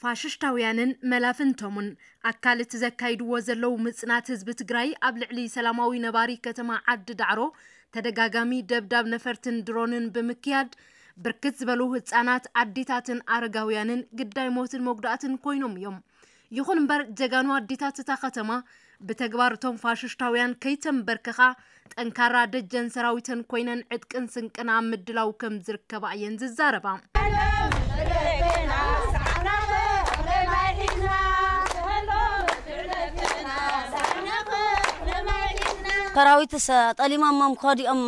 ፋሽሽታውያንን መላፍንቶምን ኣካል እቲ ዘካይድዎ ዘለዉ ምጽናት ህዝቢ ትግራይ ኣብ ልዕሊ ሰላማዊ ነባሪ ከተማ ዓዲ ዳዕሮ ተደጋጋሚ ደብዳብ ነፈርትን ድሮንን ብምክያድ ብርክት ዝበሉ ህጻናት፣ ኣዴታትን ኣረጋውያንን ግዳይ ሞትን መጉዳእትን ኮይኖም እዮም። ይኹን እምበር ጀጋኑ ኣዴታት እታ ከተማ ብተግባር እቶም ፋሽሽታውያን ከይተንበርከኻ ጠንካራ ደጀን ሰራዊተን ኮይነን ዕጥቅን ስንቅን ኣብ ምድላው ከም ዝርከባ እየን ዝዛረባ። ሰራዊትስ ጠሊሞሞም ከዲኦም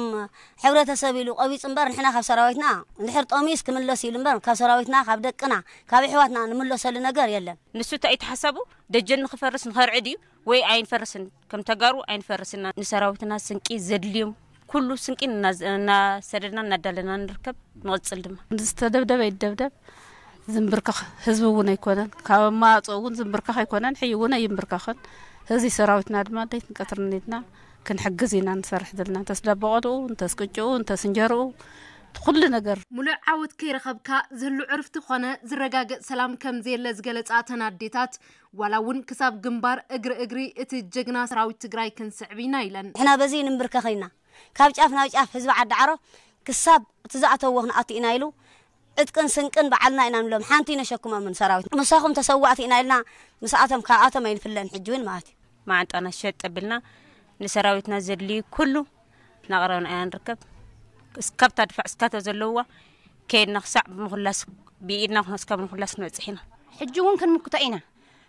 ሕብረተሰብ ኢሉ ቆቢፁ እምበር ንሕና ካብ ሰራዊትና እንድሕር ጠሚዩስ ክምለስ ኢሉ እምበር ካብ ሰራዊትና ካብ ደቅና ካብ ኣሕዋትና ንምለሰሉ ነገር የለን። ንሱ እንታይ እዩ እቲ ሓሳቡ? ደጀን ንኽፈርስ ንኸርዕድ እዩ ወይ ኣይንፈርስን? ከም ተጋሩ ኣይንፈርስን ኢና። ንሰራዊትና ስንቂ ዘድልዮም ኩሉ ስንቂ እናሰደድና እናዳለና ንርከብ። ንቕፅል ድማ ዝተደብደበ ይደብደብ ዝንብርከኽ ህዝቢ እውን ኣይኮነን። ካብ ኣማዋፅኡ እውን ዝንብርከኽ ኣይኮነን፣ ሕይ እውን ኣይንብርከኽን። እዚ ሰራዊትና ድማ ለይትን ቀትርን ኢልና ክንሕግዝ ኢና ንሰርሕ ዘለና። እንተስ ደበቐድኡ፣ እንተስ ቅጭኡ፣ እንተስ እንጀርኡ፣ ኩሉ ነገር። ሙሉእ ዓወት ከይረኸብካ ዝህሉ ዕርፍቲ ኾነ ዝረጋገፅ ሰላም ከም ዘየለ ዝገለፃ እተን ኣዴታት፣ ዋላ እውን ክሳብ ግንባር እግሪ እግሪ እቲ ጀግና ሰራዊት ትግራይ ክንስዕብ ኢና ኢለን። ንሕና በዚ ንንብርከኽ ኢና። ካብ ጫፍ ናብ ጫፍ ህዝቢ ዓዲ ዓሮ ክሳብ እቲ ዝኣተዎ ክንኣቱ ኢና ኢሉ ዕጥቅን ስንቅን ባዕልና ኢና ንብሎም። ሓንቲ ነሸክሞምን ሰራዊት ምሳኹም ተሰዋእቲ ኢና ኢልና ምስኣቶም ካብኣቶም ኣይንፍለን። ሕጂ እውን ማለት እዩ። ማዓንጣና ሸጥ ኣቢልና ንሰራዊትና ዘድልዩ ኩሉ እናቕረብና ኢና ንርከብ። እስካብታ ድፋዕ እስካቶ ዘለውዋ ከይድና ክሳዕ ብምኹላስ ብኢድና እስካብ ምኹላስ ክንበፅሕ ኢና። ሕጂ እውን ክንምክቶ ኢና።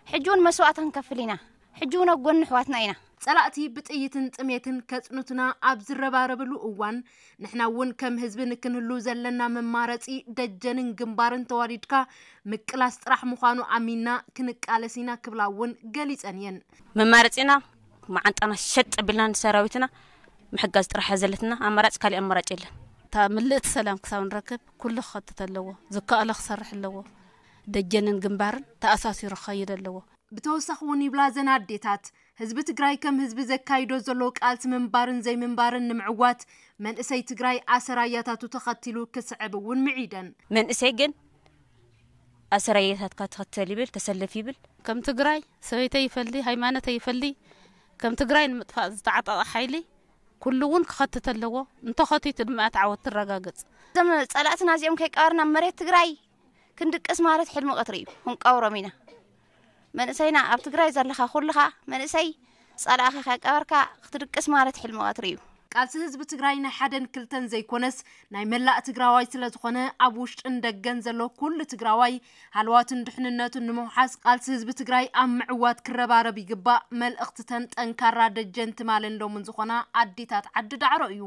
ሕጂ እውን መስዋእቲ ክንከፍል ኢና። ሕጂ እውን ኣብ ጎኒ ኣሕዋትና ኢና። ጸላእቲ ብጥይትን ጥሜትን ከጽኑትና ኣብ ዝረባረብሉ እዋን ንሕና እውን ከም ህዝቢ ንክንህሉ ዘለና መማረጺ ደጀንን ግንባርን ተዋዲድካ ምቅላስ ጥራሕ ምዃኑ ኣሚንና ክንቃለስ ኢና ክብላ እውን ገሊጸን እየን። መማረጺና መዓንጣና ሸጥ ኣቢልና ንሰራዊትና ምሕጋዝ ጥራሕ እያ ዘለትና። ኣማራጭ ካሊእ ኣማራጭ የለን። እታ ምልእቲ ሰላም ክሳብ ንረክብ ኩሉ ክኸትት ኣለዎ። ዝከኣሎ ክሰርሕ ኣለዎ። ደጀንን ግንባርን ተኣሳሲሩ ክኸይድ ኣለዎ። ብተወሳኺ እውን ይብላ እዘን ኣዴታት፣ ህዝቢ ትግራይ ከም ህዝቢ ዘካይዶ ዘሎ ቃልሲ ምንባርን ዘይምንባርን ንምዕዋት መንእሰይ ትግራይ ኣሰራያታቱ ተኸቲሉ ክስዕብ እውን ምዒደን። መንእሰይ ግን ኣሰራያታትካ ተኸተል ይብል፣ ተሰለፍ ይብል። ከም ትግራይ ሰበይተይ ይፈሊ፣ ሃይማኖተይ ይፈሊ፣ ከም ትግራይ ንምጥፋእ ዝተዓጠቐ ሓይሊ ኩሉ እውን ክኸትት ኣለዎ። እንተኸቲቱ ድማ እቲ ዓወት ትረጋገፅ። እዞም ፀላእትና እዚኦም ከይቀበርና መሬት ትግራይ ክንድቅስ ማለት ሕልሚ ቀትሪ እዩ። ክንቀብሮም ኢና። መንእሰይና ኣብ ትግራይ ዘለኻ ኩልኻ መንእሰይ ጸላእኻ ከይቀበርካ ክትድቅስ ማለት ሕልሚ ቀትሪ እዩ። ቃልሲ ህዝቢ ትግራይ ናይ ሓደን ክልተን ዘይኮነስ ናይ መላእ ትግራዋይ ስለዝኾነ ኣብ ውሽጥን ደገን ዘሎ ኩሉ ትግራዋይ ሃለዋቱን ድሕንነቱን ንምውሓስ ቃልሲ ህዝቢ ትግራይ ኣብ ምዕዋት ክረባረብ ይግባእ። መልእኽቲ ተን ጠንካራ ደጀን ትማልን ሎምን ዝኾና ኣዴታት ዓዲ ዳዕሮ እዩ።